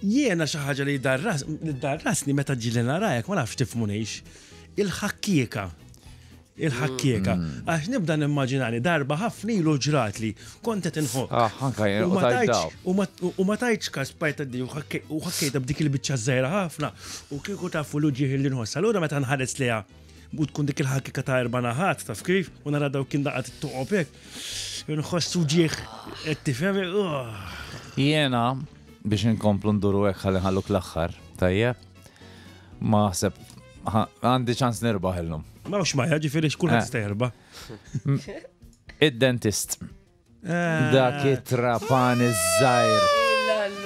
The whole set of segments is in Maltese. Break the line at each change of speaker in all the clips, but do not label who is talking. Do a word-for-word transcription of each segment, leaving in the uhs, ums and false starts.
Jiena xi ħaġa li darras, li darrasni meta ġieli narajek, ma nafx tifmunix, il-ħakkieka. Il-ħakkieka. Għax nibda nimmaġinani darba ħafna ilu ġrat li kont qed inħokk.
Ah, anka jien,
U
u
ma
tajt
tajtx-
daw.
u ma- U ma tajtx kas bajta di u ħakke- u ħakkejta b'dik il-biċċa żgħira ħafna u kieku tafu l-uġieħ li nħoss. Allura meta nħares liha u tkun dik il-ħakkika ta' erba' naħat taf kif u nara daw kien daqat it-toqob hekk. Nħoss uġieħ qed tifhem. Ugh.
Jiena, biex inkomplu nduru hekk ħalli nħalluk l-aħħar, tajjeb? Ma ħseb, għandi ċans nirbaħ illum.
Ma hux maja, ġifieri x'kulħadd
Eh.
jista' jerba'.
Id-dentist.
Eh.
Dak it-trapan iż-żgħir.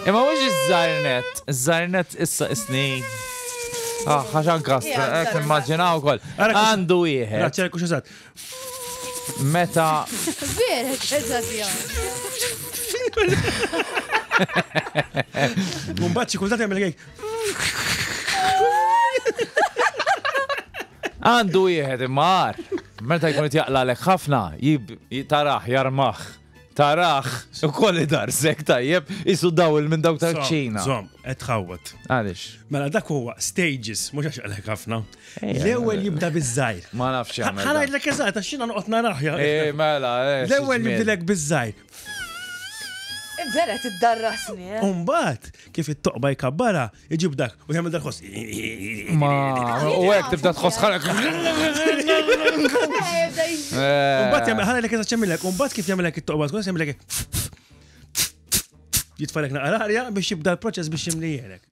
Imma mhux iż-żgħir net, iż-żgħir net issa isni. Ah, ħaxan kastra,
Ija,
hekk immaġinaw ukoll.
Ara kux-
Għandu wieħed
Raċċer kux eżatt.
meta
Vera, eżatt jgħam.
Mbagħad xi kultant jagħmel hekk.
Għandu wieħed imma għar. Meta jkun qed jaqlalek ħafna, jib taraħ, jarmaħ. Taraħ, ukoll idarsek tajjeb, isu dawl minn dawk tal-ċina.
Zom, qed tħawwad.
Għaliex?
Mela dak huwa stages, mhux għax għalek ħafna.
Ejja,
L-ewwel jibda biż-żgħir.
Ma nafx jagħmel.
Ħa ngħidlek eżatt għax jiena noqgħod narah. ja.
Eh, mela, eh.
L-ewwel
xi żmien.
jibdilek biż-żgħir.
Vera tiddarrasni, eh.
Umbagħad kif it-toqba jkabbara, iġib dak u jagħmel dak ħoss.
Ma, u hekk tibda tħoss ħalek.
Umbagħad jagħmel ħa ngħidlek eżatt x'jagħmilek, umbagħad kif jagħmilek it-toqba tkun jagħmilek jitfalek naqra arja biex jibda l-proċess biex jimlijelek.